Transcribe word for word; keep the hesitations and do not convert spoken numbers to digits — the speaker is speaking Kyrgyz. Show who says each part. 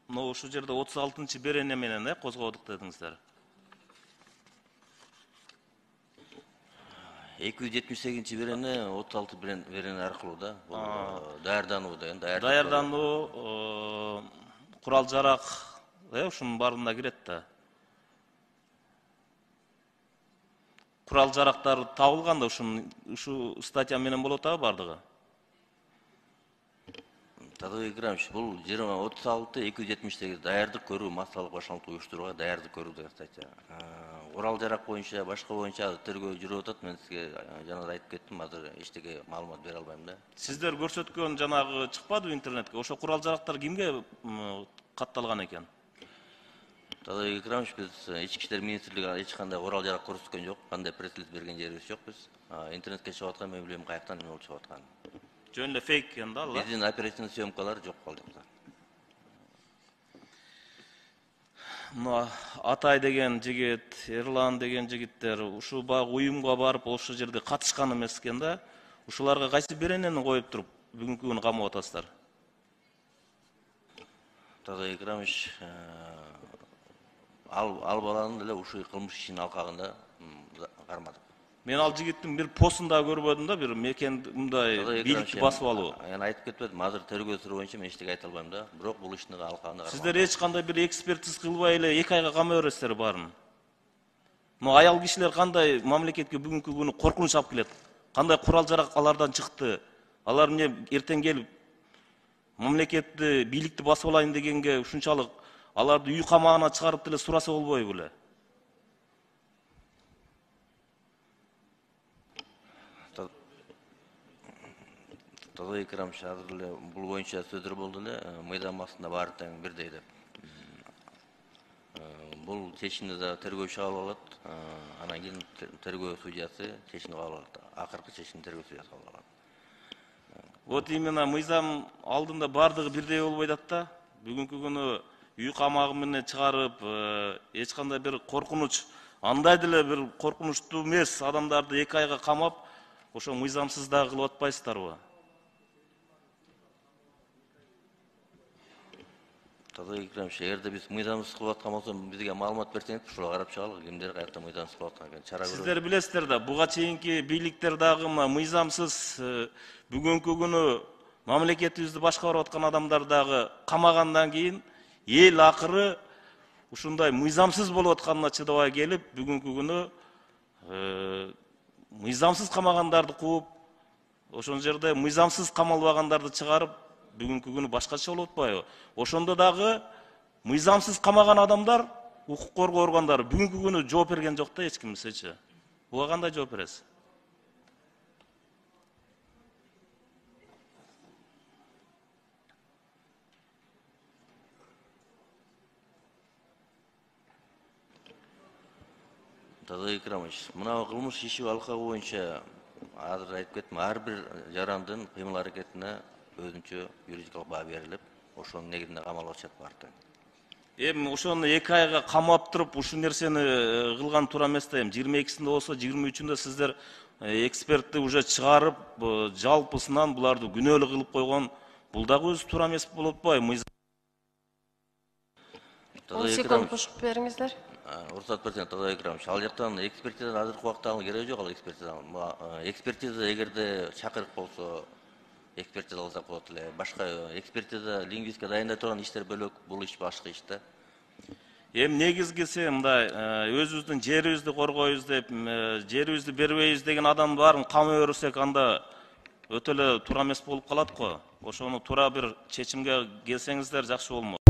Speaker 1: Но ушул жерде отуз алтынчы берене менен э козгодук дедиңиздер.
Speaker 2: эки жүз жетимиш сегизинчи берене отуз алты берене аркылуу да. Бул даярдануу деген
Speaker 1: даярдануу, курал жарак, э ушунун баарына кирет да. Курал жарактар табылганда ушун ушул статья менен болот а бардыгы.
Speaker 2: Тадыбек Икрамович, бул жыйырма отуз алты эки жүз жетимиш сегиз даярдык көрүү, массалык башкаруу уюштурууга даярдык көрүү деген статья. Курал жарак боюнча, башка боюнча тергөө жүрүп атат. Мен сизге жана айтып кеттим, азыр эчтеке маалымат бере албайм да.
Speaker 1: Сиздер көрсөткөн жанагы чыкпадыбы интернетке? Ошо курал жарактар кимге катталган экен?
Speaker 2: Тадыбек Икрамович, биз ички иштер министрлиги эч кандай курал жарак көрсөткөн жок, кандай пресс-релиз берген жерибиз жок биз. Интернетке чыгып аткан мен билем каяктан эмне болуп чыгып атканын.
Speaker 1: Жөн эле фейк экен да, алла.
Speaker 2: Биздин оперативный съемкалар жок калды.
Speaker 1: Мына Атай деген жигит, Эрлан деген жигиттер ушул баягы уюмга барып ошол жерде катышкан эмес экен да. Ушуларга кайсы беренени коюп туруп бүгүнкү күнү камап атасыздар?
Speaker 2: Тадыбек Икрамович, ал ал баланы деле ушул кылмыш ишинин алкагында кармадык.
Speaker 1: Мен ал жигиттин бир постун да көрбөдүм да, бир мекен мындай бийликти басып алуу.
Speaker 2: Мен айтып кетпедим, азыр тергөө сүрүү боюнча мен эчтеке айта албайм да. Бирок бул иштин алкагында кармадык.
Speaker 1: Сиздер эч кандай бир экспертиз кылбай эле эки айга камай бересиздер баарын. Но аял кишилер кандай мамлекетке бүгүнкү күнү коркунуч алып келет? Кандай курал жарак алардан чыкты? Алар эмне эртең келип мамлекетти, бийликти басып алайын дегенге ушунчалык аларды үй камагына чыгарып деле сураса болбойбу эле?
Speaker 2: Тадыбек Икрамович, азыр эле бул боюнча сөздөр болду эле, мыйзам астында баары тең бирдей деп. Бул чечимди да тергөөчү кабыл алат, анан кийин тергөө судьясы чечимди кабыл алат. Акыркы чечимди тергөө судьясы кабыл алат.
Speaker 1: Вот именно мыйзам алдында бардыгы бирдей болбойт атат да. Бүгүнкү күнү үй камагы менен чыгарып, эч кандай бир коркунуч, андай деле бир коркунучтуу эмес адамдарды эки айга камап, ошо мыйзамсыз да кылып атпайсыздарбы?
Speaker 2: Тадыбек Икрамович, эгерде биз мыйзамсыз кылып аткан болсок, бизге маалымат берсеңиз, ушуга карап чыгалык, кимдер каякта мыйзамсыз кылып аткан экен. Чара көрөлүк.
Speaker 1: Сиздер билесиздер да, буга чейинки бийликтер дагы мыйзамсыз бүгүнкү күнү мамлекетибизди башкарып аткан адамдар дагы камагандан кийин эл акыры ушундай мыйзамсыз болуп атканына чыдабай келип, бүгүнкү күнү мыйзамсыз камагандарды кууп, ошол жерде мыйзамсыз камалбагандарды чыгарып, бүгүнкү күнү башкача болуп атпайбы? Ошондо дагы мыйзамсыз камаган адамдар, укук коргоо органдары бүгүнкү күнү жооп берген жок да эч кимсечи. Буга кандай жооп бересиз?
Speaker 2: Тадыбек Икрамович, мына кылмыш иши алкагы боюнча азыр айтып кеттим, ар бир жарандын кыймыл аракетине өзүнчө юридикалык баа берилип, ошонун негизинде камалып атышат баары.
Speaker 1: Эми ошону эки айга камап туруп, ушул нерсени кылган туура эмес да. Эми жыйырма экисинде болсо, жыйырма үчүндө сиздер экспертти уже чыгарып, жалпысынан буларды күнөөлүү кылып койгон, бул дагы өзү туура эмес болуп атпайбы?
Speaker 3: он секунд кошуп бериңиздер.
Speaker 2: Уруксат берсеңиз, Тадыбек Икрамович, ал жактан экспертиза азыркы убакта алуу кереги жок, ал экспертиза. Экспертиза эгерде чакырык болсо, экспертиза алсак болот эле. Башка экспертиза, лингвистика дайындай турган иштер бөлөк, бул иш башка иш да.
Speaker 1: Эми негизгиси мындай, өзүбүздүн жерибизди коргойбуз деп, жерибизди бербейбиз деген адам баарын камай берсек, анда өтө эле туура эмес болуп калат го. Ошону туура бир чечимге келсеңиздер жакшы болмок.